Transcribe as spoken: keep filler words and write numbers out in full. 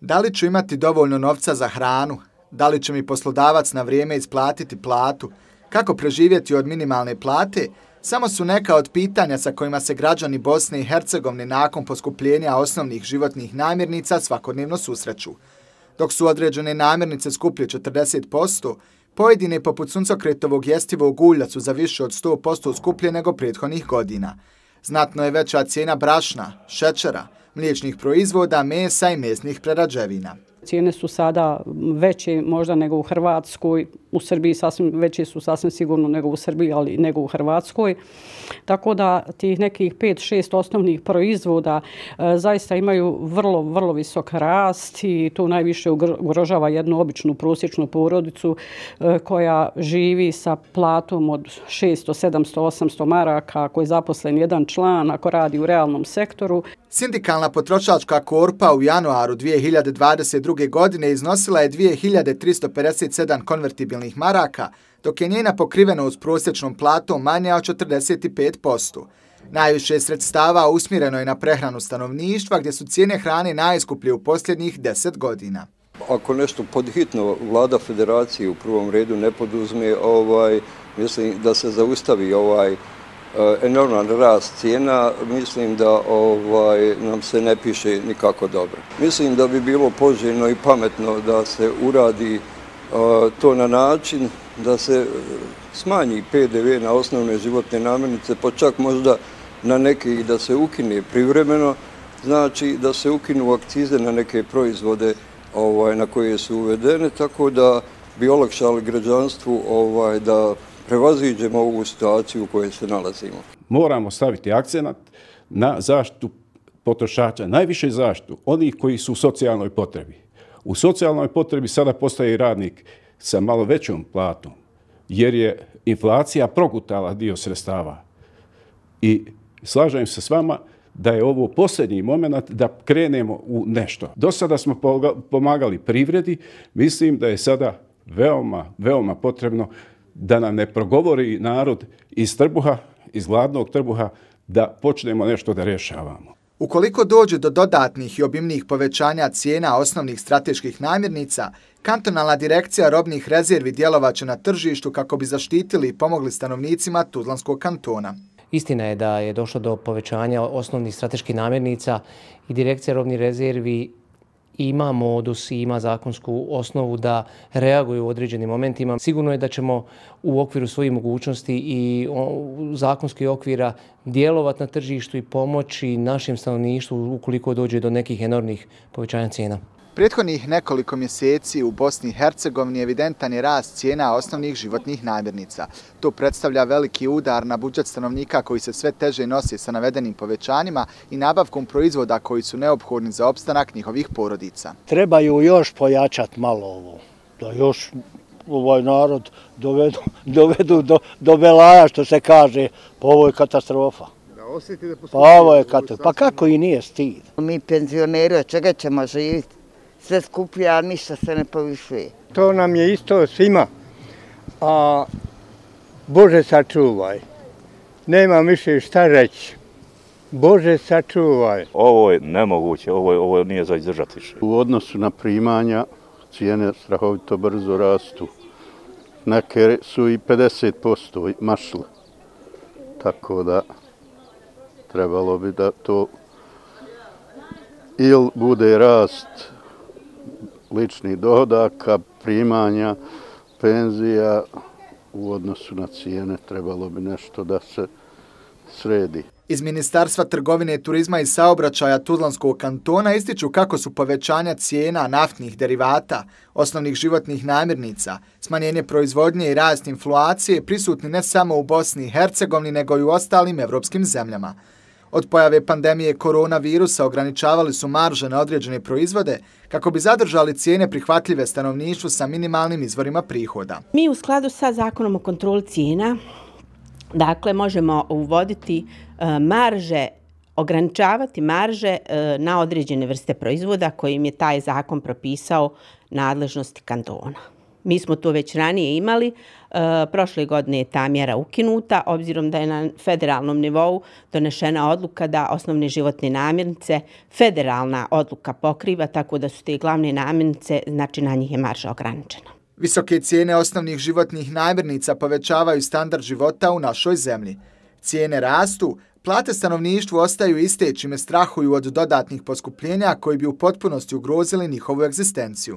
Da li ću imati dovoljno novca za hranu? Da li će mi poslodavac na vrijeme isplatiti platu? Kako preživjeti od minimalne plate? Samo su neka od pitanja sa kojima se građani Bosne i Hercegovine nakon poskupljenja osnovnih životnih namirnica svakodnevno susreću. Dok su određene namirnice skuplje četrdeset posto, pojedine poput suncokretovog jestivog ulja su za više od sto posto skuplje nego prethodnih godina. Znatno je veća cijena brašna, šećera, mliječnih proizvoda, mesa i mesnih prerađevina. Cijene su sada veće možda nego u Hrvatskoj, u Srbiji sasvim, veće su sasvim sigurno nego u Srbiji, ali nego u Hrvatskoj. Tako da tih nekih pet šest osnovnih proizvoda e, zaista imaju vrlo, vrlo visok rast i to najviše ugrožava jednu običnu prosječnu porodicu e, koja živi sa platom od šesto, sedamsto, osamsto maraka, ako je zaposlen jedan član, ako radi u realnom sektoru. Sindikalna potrošačka korpa u januaru dvije hiljade dvadeset druge. godine iznosila je dvije hiljade tristo pedeset sedam konvertibilnih maraka, dok je njena pokrivenost prosječnom platom manja od četrdeset pet posto. Najviše sredstava usmjereno je na prehranu stanovništva, gdje su cijene hrane najskuplje u posljednjih deset godina. Ako nešto podhitno vlada federacije u prvom redu ne poduzme, ovaj, mislim da se zaustavi ovaj enorman rast cijena, mislim da ovaj, nam se ne piše nikako dobro. Mislim da bi bilo poželjno i pametno da se uradi uh, to na način da se smanji P D V na osnovne životne namirnice, pa čak možda na neke i da se ukine privremeno, znači da se ukinu akcize na neke proizvode ovaj, na koje su uvedene, tako da bi olakšali građanstvu ovaj, da prevaziđemo ovu situaciju u kojoj se nalazimo. Moramo staviti akcenat na zaštitu potrošača, najviše zaštitu onih koji su u socijalnoj potrebi. U socijalnoj potrebi sada postaje i radnik sa malo većom platom, jer je inflacija progutala dio sredstava. I slažem se s vama da je ovo posljednji moment da krenemo u nešto. Do sada smo pomagali privredi, mislim da je sada veoma, veoma potrebno da nam ne progovori narod iz trbuha, iz gladnog trbuha, da počnemo nešto da rješavamo. Ukoliko dođe do dodatnih i obimnih povećanja cijena osnovnih strateških namirnica, kantonalna direkcija robnih rezervi djelovaće na tržištu kako bi zaštitili i pomogli stanovnicima Tuzlanskog kantona. Istina je da je došlo do povećanja osnovnih strateških namirnica i direkcija robnih rezervi ima modus i ima zakonsku osnovu da reaguju u određenim momentima. Sigurno je da ćemo u okviru svojih mogućnosti i zakonskih okvira djelovati na tržištu i pomoći našem stanovništvu ukoliko dođe do nekih enormnih povećanja cijena. Prethodnih nekoliko mjeseci u Bosni i Hercegovini evidentan je rast cijena osnovnih životnih namirnica. To predstavlja veliki udar na budžet stanovnika koji se sve teže nosi sa navedenim povećanjima i nabavkom proizvoda koji su neophodni za opstanak njihovih porodica. Trebaju još pojačati malo ovo, da još ovaj narod dovedu, dovedu do, do belaja, što se kaže, pa ovo je katastrofa. Pa ovo je katastrofa, pa kako i nije stid. Mi penzioneri, od čega ćemo živjeti? Sve skuplje, a ništa se ne povišuje. To nam je isto svima, a Bože sačuvaj, nemam više šta reći. Bože sačuvaj. Ovo je nemoguće, ovo, je, ovo nije za izdržati više. U odnosu na primanja cijene strahovito brzo rastu. Neke su i pedeset posto mašle, tako da trebalo bi da to ili bude rast ličnih dohodaka, primanja, penzija u odnosu na cijene, trebalo bi nešto da se sredi. Iz Ministarstva trgovine, turizma i saobraćaja Tuzlanskog kantona ističu kako su povećanja cijena naftnih derivata, osnovnih životnih namirnica, smanjenje proizvodnje i rast inflacije prisutni ne samo u Bosni i Hercegovini, nego i u ostalim evropskim zemljama. Od pojave pandemije koronavirusa ograničavali su marže na određene proizvode kako bi zadržali cijene prihvatljive stanovništvu sa minimalnim izvorima prihoda. Mi u skladu sa zakonom o kontroli cijena, dakle, možemo uvoditi marže, ograničavati marže na određene vrste proizvoda kojim je taj zakon propisao nadležnosti kantona. Mi smo to već ranije imali, prošle godine je ta mjera ukinuta, obzirom da je na federalnom nivou donešena odluka da osnovne životne namirnice federalna odluka pokriva, tako da su te glavne namirnice, znači na njih je marža ograničena. Visoke cijene osnovnih životnih namirnica povećavaju standard života u našoj zemlji. Cijene rastu, plate stanovništvu ostaju iste, čime strahuju od dodatnih poskupljenja koji bi u potpunosti ugrozili njihovu egzistenciju.